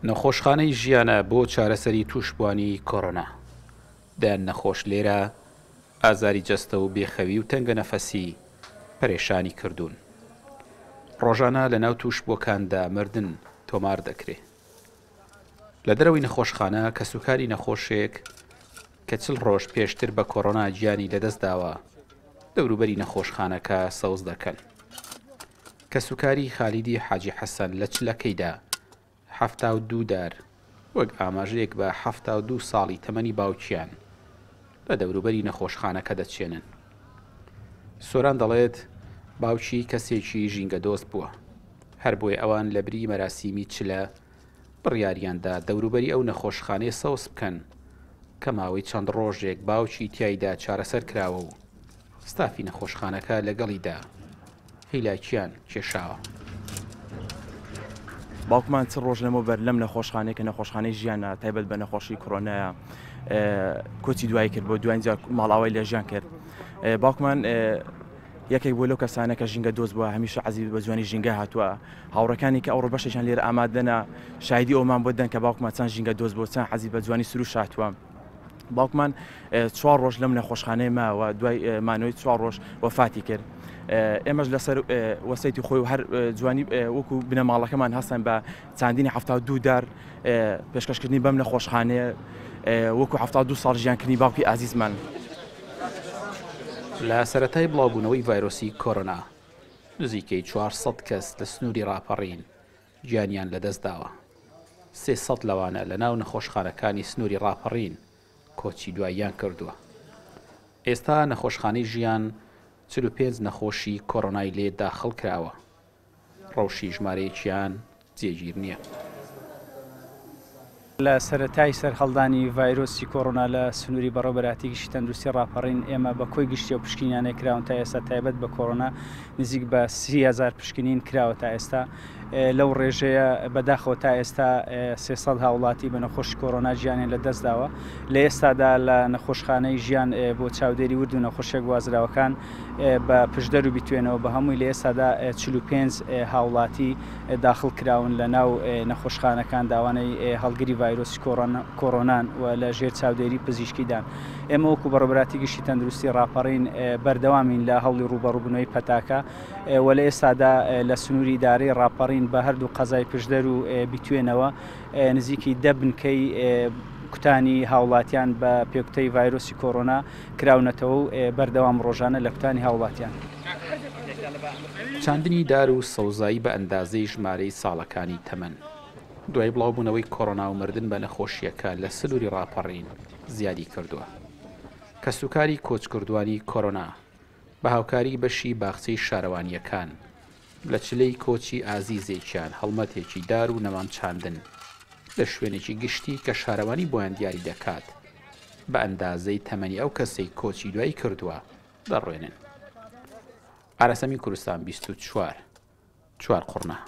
نەخۆشخانەی ژیانە بۆ چارەسەری تووشبووانی کۆرۆنا. دەیان نەخۆش لێرە ئازاری جەستە و بێخەوی و تەنگەنەفەسی پەرێشانی کردوون. ڕۆژانە لەناو تووشبووەکاندا مردن تۆمار دەکرێ. لە دەرەوەی نەخۆشخانە کەسوکاری نەخۆشێک کە چل ڕۆژ پێشتر بە کۆرۆنا گیانی لەدەستداوە، دەوروبەری نەخۆشخانەکە سەوز دەکەن. کەسوکاری خالیدی حاجی حەسەن لە چلەکەیدا 72 دار وەک ئاماژەیەک بە 72 ساڵی تەمەنی باوکیان لە دەوروبەری نەخۆشخانەکە دەچێنن. سۆران دەڵێت باوکی کەسێکی ژینگەدۆست بووە، هەر بۆیە ئەوان لەبری مەراسیمی چلە بڕیاریاندا دەوروبەری ئەو نەخۆشخانەیە سەوز بکەن کە ماوەی چەند ڕۆژێک باوکی تیایدا چارەسەر کراوە و ستافی نەخۆشخانەکە لەگەڵیدا هیلاکیان کێشاوە. باوکمان چ ڕۆژ لەمەوبەر لەم نەخۆشخانەیە کە نەخۆشخانەی ژیانە تایبەت بە نەخۆشی کۆرۆنایە کۆچی دوایی کرد بۆ دوایین جار ماڵاوای لە ژیان کرد باوکمان یەکێک بوو لەو کەسانە کە ژینگە دۆست بووە هەمیشە عەزیز بە جوانی ژینگە هاتووە هاوڕێکانی کە ئەوڕۆ بەشێکیان لێرە ئامادەنە شایدی ئەومان بۆ دەن کە باوکمان چەند ژینگە دۆست بووە چەند حەزی بە جوانی سروشت هاتووە باوکمان چوار ڕۆژ لەم نەخۆشخانەیە ماوە دوای مانەوەی چوار ڕۆژ وەفاتی کرد ئێمەش لەسەر وەسەیتی خۆی و هەر جوانی وەکو بنەماڵەکەمان هەستان بە چاندنی 72 دار پێشکەشکردنی بەم نەخۆشخانەیە وەکو 72 ساڵ ژیانکردنی باوکی ئازیزمان. لە سەرەتای بڵاوبوونەوەی ڤایرۆسی کۆرۆنا نزیکەی 400 کەس لە سنووری ڕاپەڕین گیانیان لەدەستداوە، 300 لەوانە لەناو نەخۆشخانەکانی سنووری ڕاپەڕین کۆچی دواییان کردووە. ئێستا نەخۆشخانەی ژیان 45 نەخۆشی کۆرۆنای لێ داخڵ کراوە، ڕەوشی ژمارەیەکیان جێگیر نییە. لە سەرەتای سەرهەڵدانی ڤایرۆسی کۆرۆنا لە سنووری بەڕێوەبەرایەتی گشتی تەندروستی ڕاپەڕین، ئێمە بە کۆی گشتی ئەو پشکنینانەی کراون تا ئێستا تایبەت بە کۆرۆنا نزیک بە 30,000 پشکنین کراوە تا ئێستا. لەو ڕێژەیە بەداخەوە تا ئێستا 300 هاوڵاتی بە نەخۆشی کۆرۆنا گیانیان لە دەست داوە. لە ئێستادا لە نەخۆشخانەی ژیان بۆ چاودێری ورد و نەخۆشیە گوازراوەکان بە پشدەر و بیتوێنەوە بە هەمووی لە ئێستادا 45 هاوڵاتی داخڵ کراون لە ناو نەخۆشخانەکاندا ئەوانەی هەڵگری ڤایرۆسی کۆرۆنان و لە ژێر چاودێری پزیشکیدان. ئێمە وەکو بەڕێوەبەراتی گشتی تەندروستی ڕاپەڕین بەردەوامین لە هەوڵی ڕووبەڕووبوونەوەی پەتاکە و لە ئێستادا لە سنووری ئیدارەی ڕاپەڕین بە هەردوو قەزای پشدەر و بیتوێنەوە نزیکی دە بنکەی کوتانی هاوڵاتیان بە پێکوتەی ڤایرۆسی کۆرۆنا کراونەتەوە و بەردەوام ڕۆژانە لە کوتانی هاوڵاتیان. چاندنی دار و سەوزایی بە ئەندازەی ژمارەی ساڵەکانی تەمەن دوای بڵاوبوونەوەی کۆرۆنا و مردن بە نەخۆشییەکە لە سنووری ڕاپەڕین زیادی کردووە. کەسوکاری کۆچکردووانی کۆرۆنا بە هاوکاری بەشی باخچەی شارەوانییەکان لە چلەی کۆچی ئازیزێکیان هەڵمەتێکی دار و نەمام چاندن لە شوێنێکی گشتی کە شارەوانی بۆیان دیاری دەکات بە ئەندازەی تەمەنی ئەو کەسەی کۆچی دوایی کردووە دەڕوێنن. ئاراسەمی کوردستان 24 چوارقوڕنە.